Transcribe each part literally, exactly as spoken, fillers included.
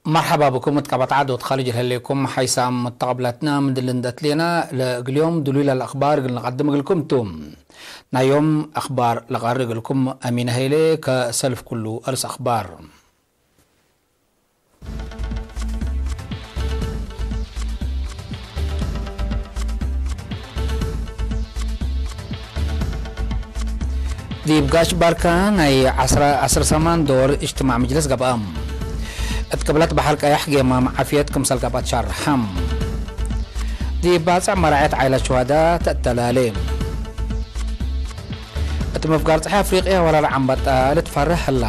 መርሐባ ብኩም እት ቀበት ዓድ ወትካልጅ ለህሌኩም ሓይሳም መተቀብላትና፣ ምን ድል እንደ ትሌና ለእግል ዮም ድሉይ ለለአክባር እግል ንቀድም እግልኩም ቱ። ናይ ዮም አክባር ለቀርእ እግልኩም አሚን ሀይሌ። ከሰልፍ ኩሉ አርስ አክባር። ዲብ ጋሽ ባርካ ናይ ዐስራ፣ ዐስር ሰማን ዶር እጅትማዕ ምጅልስ ገብአ። እት ቅብለት በሐር ቀያሕ ጌማም ዓፍየት ክምሰል ገብአት ሻርሐ። ዲብ ባጽዕ መራዐት ዓይለት ሹሀዳ ተአተላሌ። እት መፍጋር ጸሐይ አፍሪቅያ ወራር ዐንበጣ ልትፈርህ ህላ።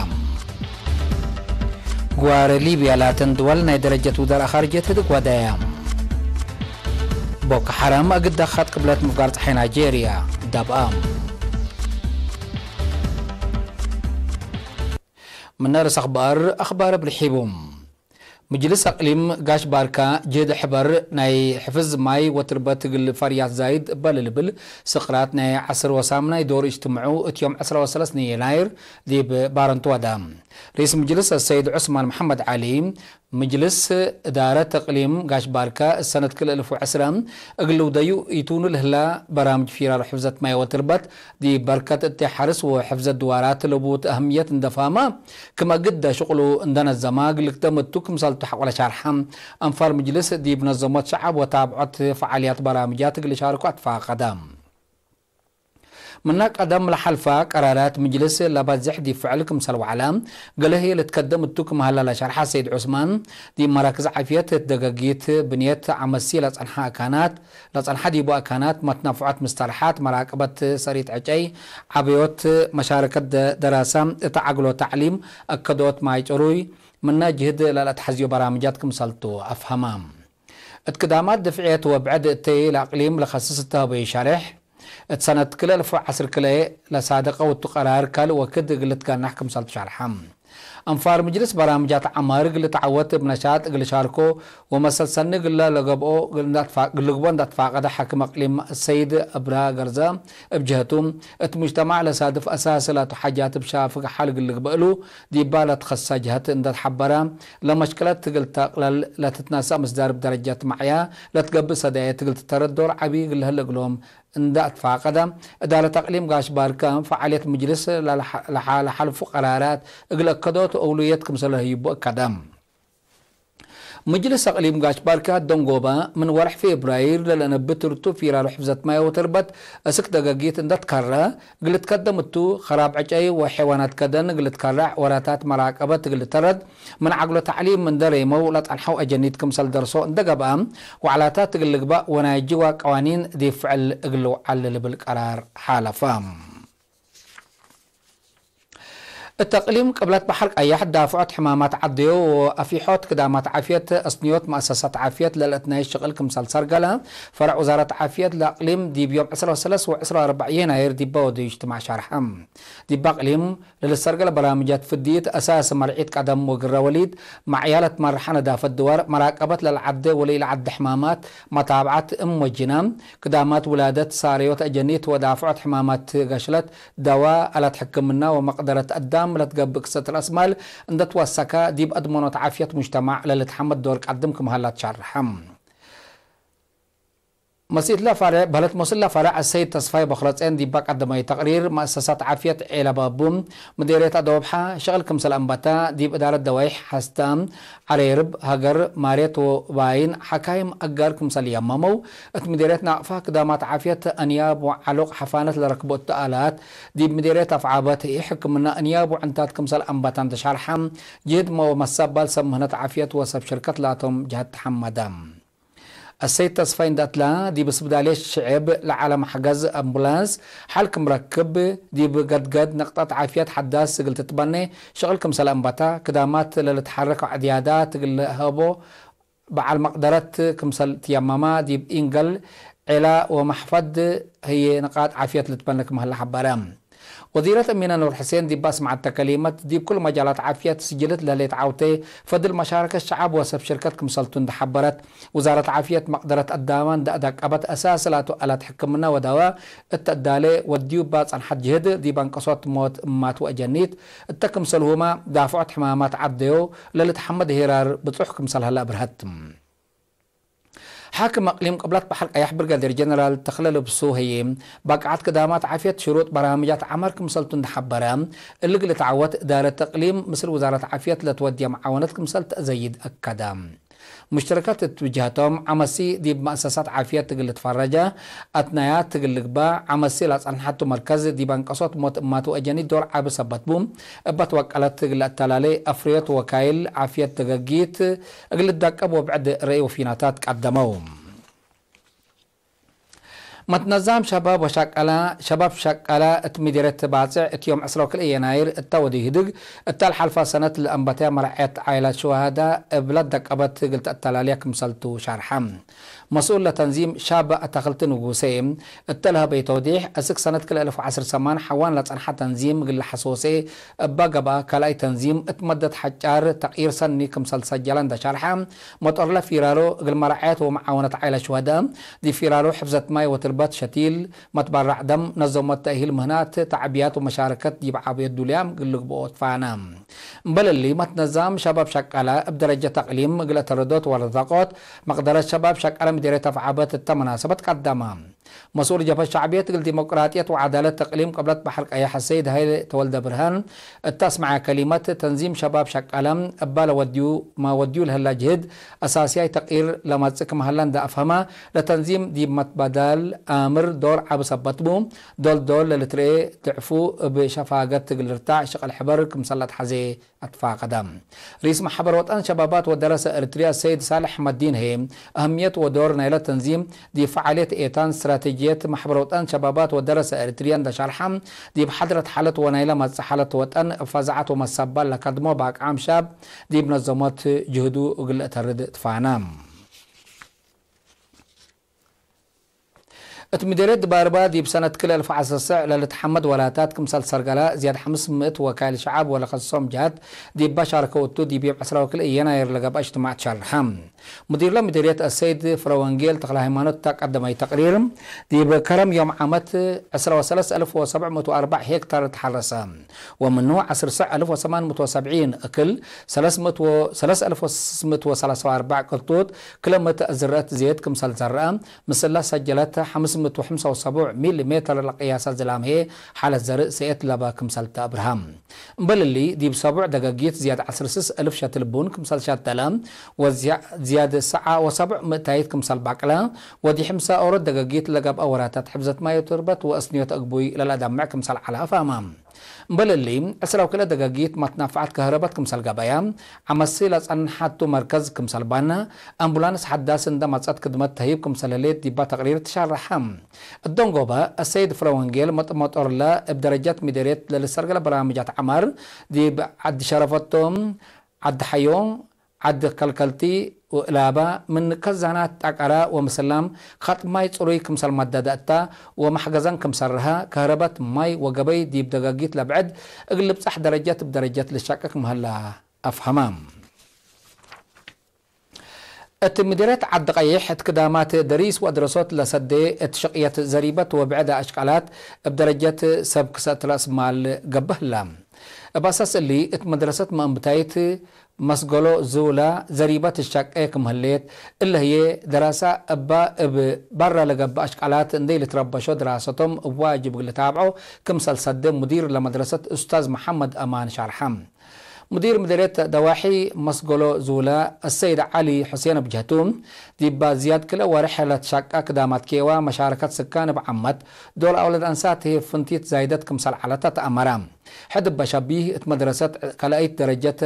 ግዋረ ሊብያ ላተን ድወል ናይ ደረጀት ውዛር አኻርጀት ህድግ ወደያ። ቦኮ ሐራም እግል ደኻት ቅብለት ምፍጋር ጸሐይ ናይጄርያ ዳብአ። ምነ ርእስ አኽባር፣ አኽባር እብ ልሒቡ። ምጅልስ አቅሊም ጋሽ ባርካ ጅህድ ሕበር ናይ ሕፍዝ ማይ ወትርበት እግል ፈርያት ዛይድ እበ ለልብል ስቅራት ናይ ዐስር ወሳምናይ ዶር እጅትምዑ እት ዮም ዐስራ ወሰለስ የናይር ዲብ ባረንቱ ወዳ። ርኢስ ምጅልስ አሰይድ ዑስማን መሐመድ ዐሊ፣ ምጅልስ እዳረት እቅሊም ጋሽ ባርካ እሰነት ክልኤ እልፍ ወዐስረ እግል ልውደዩ ኢቱኑ ለህላ በራምጅ ፊራር ሕፍዘት ማይ ወትርበት ዲብ በርከት እት ሐርስ ወሕፍዘት ድዋራት ለቡት አህምየት እንደ ፋማ፣ ክም እግደ ሽቅሉ እንደ ነዘማ እግል ልክደም እቱ ክምሰልቱ ሐቆለ ሻርሐ። አንፋር ምጅልስ ዲብ ነዘሞት ሸዐብ ወታብዖት ፈዓልያት በራምጃት እግል ሻርኮ አትፋቀደ። ምነ ቀደም ለሐልፈ ቀራራት ምጅልስ ለበዝሕ ዲብ ፍዕል ክምሰል ወዐለ፣ ገሌ ህዬ ልትከደም እቱ ክም ሀለ ለሸርሐ ሰይድ ዑስማን፣ ዲብ መራክዝ ዓፍየት እት ደገጊት ብንየት አመሲ ለጸንሐ አካናት፣ ለጸንሐ ዲቡ አካናት መትነፍዖት ምስተርሐት፣ መራቅበት ሰሪት ዕጨይ፣ ዐበዮት መሻረከት ደ-፣ ደራሰ እት ዐግሎ ተዕሊም፣ አከዶት ማይ ጭሩይ፣ ምነ ጅህድ ለለአትሐዝዮ በራምጃት ክምሰልቱ አፍሀመ። እት ክዳማት ድፍዕየት ወብዕድ እተይ ለአቅሊም ለከስስ እተ ሀበዩ ሸሬሕ፣ እት ሰነት ክልኤ እልፍ ወዐስር ክልኤ ለሳደቀው እቱ ቀራር ካልእ ወክድ እግል ልትገናሕ ክምሰልቱ ሸርሐ። አንፋር ምጅልስ በራምጃት ዐማር እግል ልትዐወት እብ ነሻጥ እግል ሻርኮ ወመሰል ሰኒ እግለ ለገብኦ እግል ልግቦ እንደ ትፋቀደ ሓክም አቅሊም ሰይድ እብራ ገርዘ እብ ጀህቱ፣ እት ሙጅተማዕ ለሳድፍ አሳስ ላቱ ሓጃት እብ ሻፍግ ሐል እግል ልግበእ እሉ ዲባ ለትከሰ ጀህት እንደ ተሐበረ፣ ለመሽክለት እግል ተቅለል ለትትነሰእ ምስዳር እብ ደረጀት መዕያ ለትገብእ ሰዳየት እግል ትተረድ ዶር ዐቢ እግል ለህለ እግሎም እንደ አትፋቀደ፣ እዳረት አቅሊም ጋሽ ባርከ ፈዓልየት ምጅልስ ለሐ-፣ ለሐ-፣ ለሐልፉ ቀራራት እግል አከዶት አውሉየት ክምሰለ ህይቡ አከደ። ምጅልስ አቅሊም ጋሽ ባርከ ደንጎበ፣ ምን ወርሕ ፌብራይር ለለነብት ርቱ ፊራሩ ሕፍዘት ማይ ወትርበት እስክ ደገጊት እንደ ትከረ እግል ልትከደም እቱ፣ ከራብ ዕጨይ ወሐይዋናት ከደን እግል ልትከረዕ፣ ወራታት መራቀበት እግል ልተረድ፣ ምን ዐግሎ ተዕሊም እንደ ሬመው ለጸንሐው አጀኒት ክምሰል ደርሶ እንደ ገብአ፣ ወዐላታት እግል ልግበእ ወናይ ጅዋ ቀዋኒን ዲብ ፍዕል እግል ልውዓል ልብል ቀራር ሓለፈ። እት እቅሊም ቅብለት በሐር ቀያሕ ዳፍዖት ሕማማት ዐደዮ ወአፊሖት ክዳማት ዓፍየት አስንዮት መአሰሳት ዓፍየት ለልአትናይ ሽቅል ክምሰል ሰርገለ፣ ፈረዕ ውዛረት ዓፍየት ለእቅሊም ዲብ ዮም ዕስራ ወሰለስ ወዕስራ ወአርበዕ የናይር ዲበ ወደዩ እጅትማዕ ሸርሐ። ዲብ አቅሊም ለልትሰርገለ በራምጃት ፍድይት አሳስ መርዒት ቀደም ወግረ ወሊድ፣ መዕያ ለትመርሐ ነዳፈት ድዋር፣ መራቀበት ለልዓደ ወለኢለዓደ ሕማማት፣ መታብዐት እም ወጅና፣ ክዳማት ውላደት፣ ሳረዮት አጀኒት ወዳፍዖት ሕማማት ገሽለት፣ ደዋ፣ አላት ሕክምና ወመቅደረት አዳም ለትገብእ ክሰት ረአስ ማል እንደ ትወሰከ፣ ዲብ አድመኖት ዓፍየት ሙጅተማዕ ለልትሐመድ ዶር ቀድም ክም ሀላ ትሸርሐ። መሲእትለ ፈሬዕ፣ በህለት ሞስለ ፈሬዕ አሰይድ ተስፋይ ቦክረጼን ዲባ ቀደመዩ ተቅሪር፣ መአሰሳት ዓፍየት ዔለ ባቡ፣ ምዴርየት አዶብሐ፣ ሸቅል ክምሰል አንበተ፣ ዲብ እዳረት ደዋይሕ ሐስተ፣ ዐሬርብ፣ ሀገር፣ ማርየት ወባይን፣ ሐካይም አጋር ክምሰል የመመው፣ እት ምዴርየት ናቅፋ፣ ክዳማት ዓፍየት፣ አንያብ ወዐሉቅ ሐፋነት ለረክቦ እተ አላት፣ ዲብ ምዴርየት አፍዓበት፣ ህይ ሕክምና፣ አንያብ ወዕንታት ክምሰል አንበተ እንተ ሸርሐ፣ ጅህድ ወመሰባል ሰብ ምህነት ዓፍየት ወሰብ ሽርከት ላቶም ጀሀት ተሐመደ። አሰይድ ተስፋይ እንደ አትላ፣ ዲብ ስብዳልየት ሽዕብ ለዐለ መሕገዝ አምቡላንስ ሐል ክም ረክብ፣ ዲብ ገድገድ ነቅጠት ዓፍየት ሐዳስ እግል ትትበኔ ሽቅል ክምሰል አንበታ፣ ክዳማት ለልትሐረክ ዕድያዳት እግል ለሀቦ በዐል መቅደረት ክምሰል ትየመማ፣ ዲብ ኢንገል፣ ዔላ ወመሕፈድ ህዬ ንቃጥ ዓፍየት ልትበነ ክም ሀለ ሐበረ። ወዚረት እሚነ ኑር ሕሴን ዲብ አስመዐተ ከሊመት፣ ዲብ ኩሉ መጃላት ዓፍየት ስጅልት ለህሌት ዐውቴ፣ ፈድል መሻረከት ሸዐብ ወሰብ ሽርከት ክምሰልቱ እንዴ ሐበረት፣ ውዛረት ዓፍየት መቅደረት አዳመ እንዴ አዳቀበት፣ አሳስ ላቱ አላት ሕክምነ ወዳወ እተ እዳሌ ወድዩ እባ ጸንሐት ጅህድ፣ ዲብ አንቀሶት ሞት እማት ወአጀኒት እተ ክምሰልሁመ ዳፍዖት ሕማማት ዐደዮ፣ ለልትሐመድ ሄራር ብጹሕ ክምሰል ሀለ አብርሀት። ሓክም አቅሊም ቅብለት በሐር ቀያሕ ብርጋዴር ጀነራል ተኽለ ልብሱ ህዬ፣ ባቅዓት ክዳማት ዓፍየት ሽሩጥ በርናምጃት ዐመር ክምሰልቱ እንዴ ሐበረ፣ እሊ እግል ልትዓወት እዳረት እቅሊም ምስል ውዛረት ዓፍየት ለትወድየ መዓወነት ክምሰል ተአዘይድ አከደ። ሙሽተረካት እት ብጅሀቶም፣ ዐመሲ ዲብ መአሰሳት ዓፍየት እግል ልትፈረጀ፣ አትናያት እግል ልግበእ፣ ዐመሲ ለጸንሐቱ መርከዝ ዲብ አንቀሶት ሞት እማቱ አጀኒት ዶር ዐቢ ሰበት ቡ፣ እበ ትወቀለት እግል ለአተላሌ አፍርዮት ወካይል ዓፍየት ደገጊት እግል ልዳቀብ ወብዕድ ረኢ ወፊናታት ቀደመው። መትነዛም ሸባብ ወሸቀለ፣ ሸባብ ሸቀለ እት ምዲርየት ባጽዕ እት ዮም ዕስራ ወክልኤ የናይር እተ ወዲህ ህድግ እተ ለሐልፈ ሰነት ለአንበተየ መርዐየት ዓይላት ሹሃዳ እብ ለደቀበት እግል ተአተላልየ ክምሰልቱ ሸርሐ። መስኡል ለተንዚም ሻብ አታክልቲ ንጉሴ እተ ለሀበየ ተውዲሕ፣ እስክ ሰነት ክልኤ አልፍ ወዐስር ሰማን ሐዋን ለጸንሐ ተንዚም እግል ለሐሶሴ እባ ገብአ፣ ካልኣይ ተንዚም እት መደት ሐጫር ተቅይር ሰኒ ክምሰል ሰጀለ እንዴ ሸርሐ፣ መጦርለ ፊራሎ እግል መርዐየት ወመዓወነት ዓይላት ሹሀዳ፣ ዲብ ፊራሎ ሕፍዘት ማይ ወትርበት ሸቲል፣ መትበራዕ ደም፣ ነዘሞት ተእሂል ምህናት፣ ተዕብያት ወመሻረከት ዲብ ዓብዮት ዱልያም እግል ልግብኦ ትፋነ። እምበል እሊ፣ መትነዛም ሸባብ ሸቀለ እብ ደረጀት አቅሊም እግል አተረዶት ወረዘቆት፣ መቅደረት ሸባብ ሸቀለ ምዲርየት አፍዓበት እተ መናሰበት ቀደመ። መስኡል ጀብሀት ሸዕብየት እግል ዲሞቅራጥየት ወዐዳለት እቅሊም ቅብለት በሐር ቀየሕ አሰይድ ሀይለ ተወልደ ብርሃን እተ አስመዐ ከሊመት፣ ተንዚም ሸባብ ሸቀለ እባ ለወድዩ፣ መ ወድዩ ለህላ ጅህድ አሳስያይ ተቅይር ለመጽእ ክም ሀለ እንዴ አፍሀመ፣ ለተንዚም ዲብ መትበዳል አምር ዶር ዐቢ ሰበት ቡ፣ ዶል ዶል ለልትርኤ ድዕፉ እብ ሸፋገት እግል ልርታዕ ሽቅል ሕበር ክምሰል ለአትሐዜ አትፋቀደ። ርኢስ መሕበር ወጠን ሸባባት ወደረሰ ኤሪትርያ ሰይድ ሳልሕ አሕመዲን ህዬ፣ አህምየት ወዶር ናይለ ተንዚም ዲብ ፈዓልየት ኤታን ስትራቴጅየት መሕበር ወጠን ሸባባት ወደረሰ ኤሪትርያ እንዴ ሸርሐ፣ ዲብ ሐድረት ሓለት ወናይለ መጽእ ሓለት ወጠን እብ ፈዛዐት ወመሰባል ለከድሞ ባቅዓም ሻብ ዲብ ነዘሞት ጅህዱ እግል ለአተርድ ትፋነ። እት ምዴርየት ድባርባ ዲብ ሰነት ክልኤ አልፍ ወዐስር ሰዕ ለልትሐመድ ወላታት ክምሰል ሰርገላ ዝያድ ሐምስ ምእት ወካይል ሸዐብ ወለከስሶም ጀሀት ዲብ ባሻርከው እቱ ዲብ ዮም ዕስራ ወክልኤ የናይር ለገብአ እጅትማዕ ትሸርሐ። ሙዲርለ ምዴርየት አሰይድ ፍረወንጌል ተክለሃይማኖት እተ ቀደመዩ ተቅሪር፣ ዲብ ከረም ዮም ዓመት ዕስራ ወሰለስ አልፍ ወሰብዕ ምእት ወአርበዕ ሄክታር ተሐረሰ። ወምኑ ዐስር ሰዕ አልፍ ወሰማን ምእት ወሰብዒን እክል፣ ሰለስ ምእት ወ-፣ ሰለስ አልፍ ወስስ ምእት ወሰላሳ ወአርበዕ ቅርጡት ክለ ምእት ዝርአት ዜድ ክምሰል ዘርአ፣ ምስላ ሰጀለት ሐምስ ምእት ወሐምሳ ወሰቡዕ ሚሊ ሜተር ለቅያሰ ዝላም ህዬ፣ ሓለት ዘርእ ሰኤት ለበ ክምሰል ተአብርሀ። እምበል እሊ፣ ዲብ ሰቡዕ ደገጊት ዝያድ ዐስር ስስ አልፍ ሸትል ቡን ክምሰል ሸተለ፣ ወዝያ-፣ ዝያድ ሰዓ ወሰቡዕ ምእታይት ክምሰል በቅለ፣ ወዲ ሕምሳ ኦሮት ደገጊት ለገብአ ወራታት ሕፍዘት ማይ ወትርበት ወአስንዮት እግቡይ ለለአደምዕ ክምሰል ዐለ አፍሀመ። እምበል እሊ፣ ዕስራ ወክልኤ ደገጊት መትናፍዐት ከህረበት ክምሰል ገበያ፣ ዐመሲ ለጸንሐቱ መርከዝ ክምሰል ባነ፣ አምቡላንስ ሐዳስ እንደ መጸት ክድመት ተህይብ ክምሰል ህሌት ዲባ ተቅሪር ትሸረሐ። እት ደንጎበ፣ አሰይድ ፍረወንጌል መጥ-፣ መጦርለ እብ ደረጀት ምዴርየት ለልሰርገለ በርናምጃት ዐመር፣ ዲብ ዐዲ ሸረፈቶም፣ ዐዲ ሐዮ፣ ዐድ ከልከልቲ ወእላበ ምን ከዛናት ጠቀረ ወምስላም ከጥ ማይ ጽሩይ ክምሰል መደደ እተ ወመሕገዘን ክም ሰርሀ፣ ከህረበት ማይ ወገበይ ዲብ ደገጊት ለብዕድ እግል ልብጸሕ ደረጀት እብ ደረጀት ልሸቅክ ምህላ አፍሀመ። እት ምዲርየት ዐዲ ቀይሕ እት ክዳማት ደሪስ ወአድረሶት ለሰዴ እት ሽቅየት ዘሪበት ወብዕድ አሽቃላት እብ ደረጀት ሰብ ክሰእት ረአስ ማል ገብእ ህላ። እብ አሳስ እሊ፣ እት መድረሰት መአንብታይት መስገሎ ዙላ ዘሪበት ትሸቄ ክም ህሌት፣ እለ ህዬ ደራሳ እባ እብ በራ ለገብእ አሽቃላት እንዴ ልትረበሾ ድራሰቶም እብ ዋጅብ እግል ልታብዖ ክምሰል ሰዴ ሙዲር ለመድረሰት ኡስታዝ መሐመድ አማን ሸርሐ። ሙዲር ምድርየት ደዋሒ መስገሎ ዙላ አሰይድ ዐሊ ሑሴን እብ ጀህቱ፣ ዲባ ዝያድ ክልኤ ወሬሕ ለትሸቀ ክዳማት ኬዋ መሻረከት ስካን እብ ዓመት ዶል አውለድ አንሳት ህዬ ፍንቲት ዛይደት ክምሰል ዐለት ተአመረ። ሕድ እበ ሸቢህ እት መድረሰት ካልአይት ደረጀት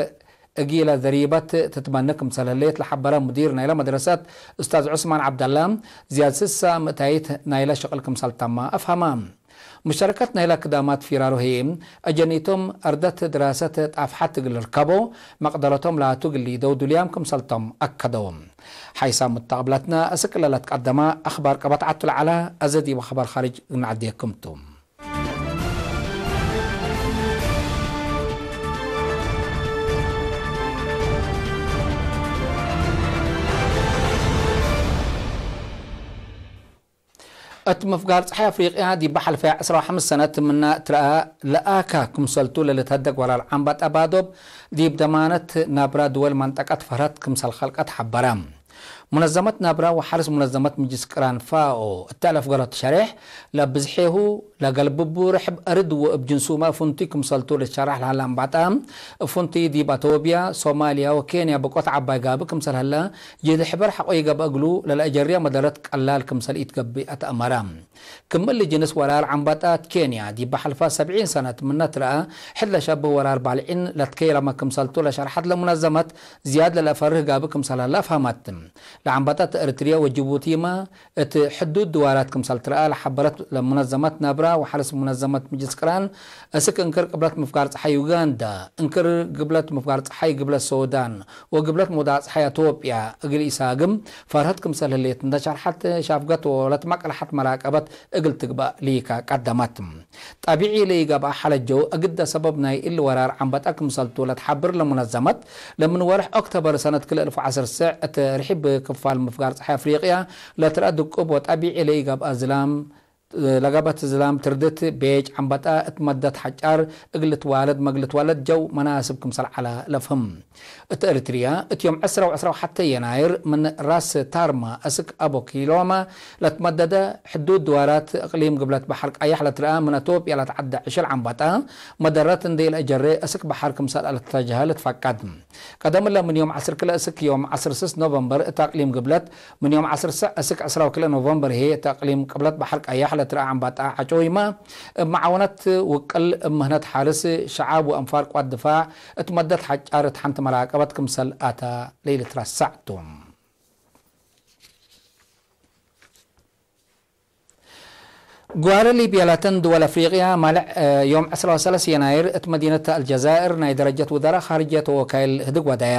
እጊለ ዘሪበት ትትመኒ ክምሰል ህሌት ለሐበረ ሙዲር ናይለ መድረሰት ኡስታዝ ዑስማን ዐብደላ፣ ዝያድ ስሳ ምእታይት ናይለ ሽቅል ክምሰል ተመ አፍሀመ። ሙሸረከት ናይለ ክዳማት ፊራሮ ህዬ፣ አጀኒቶም አርደት ድራሰት ጣፍሐት እግል ልርከቦ፣ መቅደረቶም ላቱ እግል ሊደው ዱልያም ክምሰልቶም አከደው። ሓይሳም ሙተቀብለትነ፣ እስክ ለለትቀደመ አክባር ቀበት ዐቱ ለዐለ፣ አዘ ዲብ አክባር ካርጅ እግል ነዐዴኩም ቱ። እት ምፍጋር ጸሓይ አፍሪቅያ ዲብ ሐልፈያ ዕስራ ወሐምስ ሰነት ምነ ትረአ ለአካ ክምሰልቱ ለልትሀደግ ወራር ዐንበጣ ባዶብ ዲብ ደማነት ናብራ ድወል መንጠቀት ፈርሀት ክምሰል ከልቀት ሐበረ። ሙነዘመት ናብራ ወሐርስ ሙነዘመት ምጅልስ ቅራን ፋኦ እተ ለፍገረቱ ሸሬሕ ለብዝሔሁ ለገልብቡ ርሕብ አርድ ወእብ ጅንሱመ ፍንቱይ ክምሰልቱ ልትሸራሕ ለሀለ አንበጣ፣ እብ ፍንቱይ ዲብ አቶብያ፣ ሶማልያ ወኬንያ ብቆት ዐባይ ጋብእ ክምሰል ሀለ፣ ጅህድ ሕበር ሐቆ ይገብአ እግሉ ለለአጀርያ መደረት ቀላል ክምሰል ኢትገብእ አትአመረ። ክም እሊ ጅንስ ወራር ዐንበጣ እት ኬንያ ዲብ ሐልፋ ሰብዒን ሰነት ምነ ትረአ፣ ሕድ ለሸብህ ወራር ባልዒን ለትከየለመ ክምሰልቱ ለሸርሐት ለሙነዘመት፣ ዝያድ ለለአፈርህ ጋብእ ክምሰል ሀለ አፍሀመት። ለዐንበጣ እት ኤሪትርያ ወጅቡቲመ እት ሕዱድ ድዋራት ክምሰል ትረአ ለሐበረት ለሙነዘመት ናብራ ወሐርስ ሙነዘመት ምጅልስ ቅራን፣ እስክ እንክር ቅብለት ምፍጋር ጸሓይ ዩጋንዳ፣ እንክር ግብለት ምፍጋር ጸሓይ ግብለት ሶዳን ወግብለት ሞዳቅ ጸሓይ አቶብያ እግል ኢሳግም ፈርሀት ክምሰል ህሌት እንደ ሸርሐት ሻፍገት ወለትመቅለሐት መራቀበት እግል ትግባእ ሊካ ቀደመት። ጠቢዒ ለኢገብአ ሐለጀው እግደ ሰበብ ናይ እሊ ወራር ዐንበጣ ክምሰልቱ ለትሐብር ለሙነዘመት፣ ለምን ወርሕ ኦክቶበር ሰነት ክልኤ አልፍ ወዐሰርተ እት ርሒብ ክፋል ምፍጋር ጸሓይ አፍሪቅያ ለትረአ ድቁብ ወጠቢዒ ለኢገብአ ዝላም፣ ለገብአት ዝላም ትርድት ቤጅ ዐንበጣ እት መደት ሐጫር እግል ልትዋለድ መግል ልትዋለድ ጀው መናስብ ክምሰል ዐለ ለፍህም። እት ኤሪትርያ፣ እት ዮም ዕስራ ወዕስራ ወሐተ የናይር ምን ራስ ታርማ እስክ አቦኪሎማ ለትመደደ ሕዱድ ድዋራት እቅሊም ግብለት በሐር ቀየሕ ለትረአ ምን አቶብያ ለትዐደ ዕሽል ዐንበጣ፣ መደረት እንዴ ኢለአጀሬ እስክ በሐር ክምሰል አልትተጀሀ ልትፈቀድ። ቀደም እለ ምን ዮም ዐስር ክልኤ እስክ ዮም ዐስር ስስ ኖቨምበር እት አቅሊም ግብለት፣ ምን ዮም ዐስር ስዕ እስክ ዕስራ ወክልኤ ኖቨምበር ህዬ እት አቅሊም ቅብለት በሐር ቀየሕ ለትረአ ዐንበጣ ዐጮይመ፣ እብ መዓወነት ውቅል እብ ምህነት ሐርስ ሸዓብ ወአንፋር ቅዋት ድፋዕ እት መደት ሐጫር እት ሐንቲ መራቀበት ክምሰል አተ ለኢልትረሳዕ ቱ። ግዋረ ሊብያ ላተን ድወል አፍሪቅያ፣ ማልዕ ዮም ዕስራ ወሰለስ የናይር እት መዲነት አልጀዛእር ናይ ደረጀት ውዛራ ካርጅየት ወወካይል ህድግ ወደየ።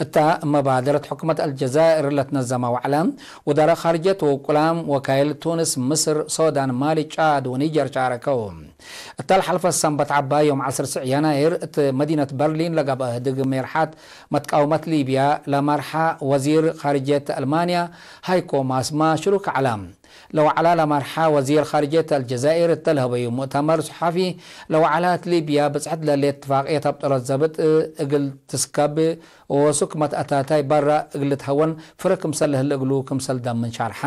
እታ መባደረት ሕኩመት አልጀዛእር ለትነዘመ ወዕለ፣ ውዛራ ካርጅየት ወውቁላም ወካይል ቱንስ፣ ምስር፣ ሶዳን፣ ማሊ፣ ጫድ ወኒጀር ሻረከው። እተ ለሐልፈ ሰንበት ዐባይ ዮም ዐስር ስዕ የናይር እት መዲነት በርሊን ለገብአ ህድግ ሜርሓት መትቃውመት ሊብያ ለመርሐ ወዚር ካርጅየት አልማንያ ሃይኮ ማስ ሽሩክ ዐለ። ለወዕላ ለመርሐ ወዚር ካርጅየት አልጀዛይር እተ ለሀበዩ ሙእተመር ሱሓፊ፣ ለወዕላ እት ሊብያ ብጽሕት ለሌት እትፋቅየት አብጠሮት ዘብጥ እግል ትስከብ ወሱክ መትአታታይ በረ እግል ልትሀወን ፍረ ክምሰል ለህለ እግሉ ክምሰል ደምን ሻርሐ።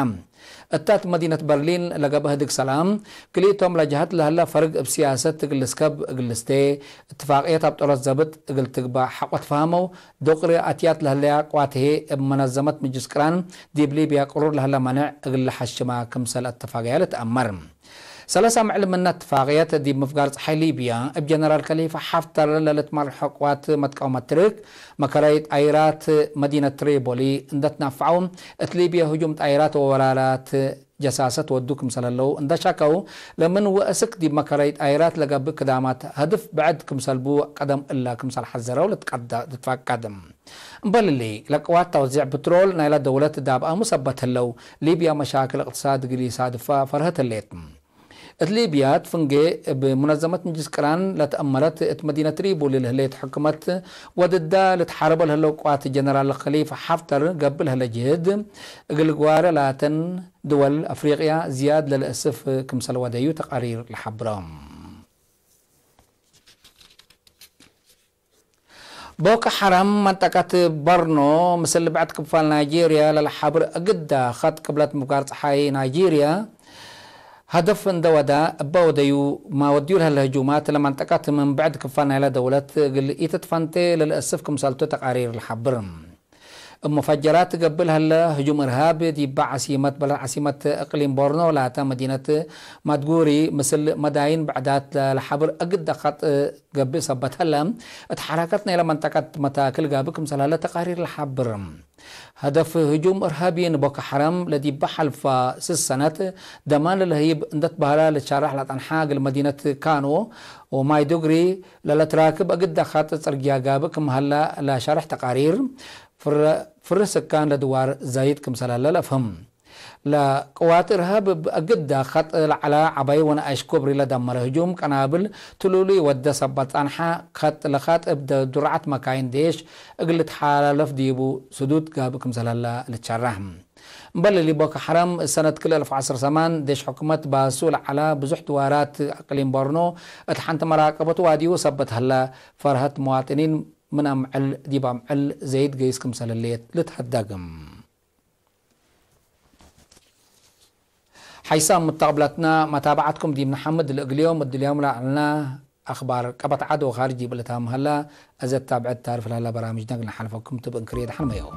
እታት መዲነት በርሊን ለገብአ ህድግ ሰላም፣ ክልኢቶም ለጀሀት ለህለ ፈርግ እብ ሲያሰት እግል ልስከብ እግል ልስቴ፣ እትፋቅየት አብጠሮት ዘብጥ እግል ትግባእ ሐቆ ትፋህመው፣ ዶቅሪ አትያት ለህለያ ቅዋት ህዬ እብ መነዘመት ምጅልስ ቅራን ዲብ ሊብያ ቅሩር ለህለ መኔዕ እግል ለሐሽማ ክምሰል አተፋገያ ልትአመር። ሰለሰ ምዕል ምነ እትፋቅየት ዲብ ምፍጋር ጸሓይ ሊብያ እብ ጀነራል ከሊፋ ሐፍተር ለልትመርሖ ቅዋት መትቀውመት ትርክ፣ መከረይ ጣይራት መዲነት ትሪፖሊ እንደ ትናፈዐው፣ እት ሊብያ ህጁም ጣይራት ወወራራት ጀሳሰት ወዱ ክምሰል ህለው እንደ ሻከው፣ ለምን ወእስክ ዲብ መከረይ ጣይራት ለገብእ ክዳማት ሀድፍ ብዕድ ክምሰል ቡ ቀደም እለ ክምሰል ሐዘረው ልትቀደ-፣ ልትፈቀድ። እምበል እሊ፣ ለቅዋት ተውዜዕ ፕትሮል ናይለ ደውለት ዳብአሙ ሰበት ህለው፣ ሊብያ መሻክል እቅትሳድ እግል ኢሳድፋ ፈርሀት ህሌት። እት ሊብያ እት ፍንጌ እብ ሙነዘመት ምጅልስ ቅራን ለተአመረት እት መዲነት ትሪፖሊ ለህሌት ሕክመት ወድዳ ልትሓረቦ ለህለው ቅዋት ጀነራል ከሊፋ ሐፍተር ገብእ ለህለ ጅህድ እግል ግዋረ ላተን ድወል አፍሪቅያ ዝያድ ለልአስፍ ክምሰል ወደዩ ተቃሪር ለሐብረ። ቦኮ ሐራም መንጠቀት ቦርኖ ምስል ብዕድ ክፋል ናይጄርያ ለለሓብር እግዳ ኸጥ ቅብለት ምፍጋር ጸሓይ ናይጄርያ ሀደፍ እንደ ወዳ እበ ወደዩ ማወድዩ ለህለ ህጁማት ለመንጠቀት ምን ብዕድ ክፋል ናይለ ደውለት እግል ኢትትፈንቴ ለልአስፍ ክምሰልቱ ተቃሪር ለሐብር። እብ ሙፈጀራት ገብእ ለህለ ህጁም እርሃብ ዲበ ዐሲመት በለድ ዐሲመት እቅሊም ቦርኖ ላተ መዲነት ማድጉሪ ምስል መዳይን ብዕዳት ለለሐብር እግደ ኸጥ ገብእ ሰበት ህለ፣ እት ሐረከት ናይለ መንጠቀት መታክል ጋብእ ክምሰል ህለ ተቃሪር ለሐብር። ሀደፍ ህጁም እርሃቢ ንቦኮ ሐራም ለዲበ ሐልፋ ስስ ሰነት ደማን ለለህይብ እንደ ትበህለ ልትሸረሕ ለጸንሐ እግል መዲነት ካኖ ወማይዱግሪ ለለትራክብ እግደ ኸጥ ጽርግያ ጋብእ ክም ሀለ ለሸርሕ ተቃሪር፣ ፍረ-፣ ፍርህ ስካን ለድዋር ዛይድ ክምሰል ህለ ለአፍህም። ለቅዋት እርሃብ እብ እግደ ኸጥ ለዐለ ዐባይ ወነኣይሽ ኩብሪ ለደመረ ህጁም ቀናብል ትሉሉይ ወደ ሰበት ጸንሐ፣ ኸጥ ለኸጥ እብ ደ-፣ ዱርዐት መካይን ዴሽ እግል ልትሓላለፍ ዲቡ ስዱድ ጋብእ ክምሰል ህለ ልትሸረሕ። እምበል ሊቦ ከሐረም፣ ሰነት ክልኤ አልፍ ወዐስር ሰማን ዴሽ ሕኩመት ባሱ ለዐላ ብዙሕ ድዋራት አቅሊም ቦርኖ እት ሐንቲ መራቀበቱ ዋድዩ ሰበት ሀላ። ፈርሀት መዋጥኒን ምን አምዕል ዲብ አምዕል ዘይድ ገይስ ክምሰል ህሌት ልትሀደግም። ሐይሳም ሙተቅብለትና መታብዐትኩም ዲብ ነሐምድ። ለእግልዮም እድልዮም ለዐልና አኽባር ቀበት ዐድ ወኻርጅ ዲብ ልታም ሀላ። እዘ ታብዐት ታርፍ ለሀላ በራምጅና እግል ነሓልፈኩም ቱ ብእንክርየ ደሐን መየው።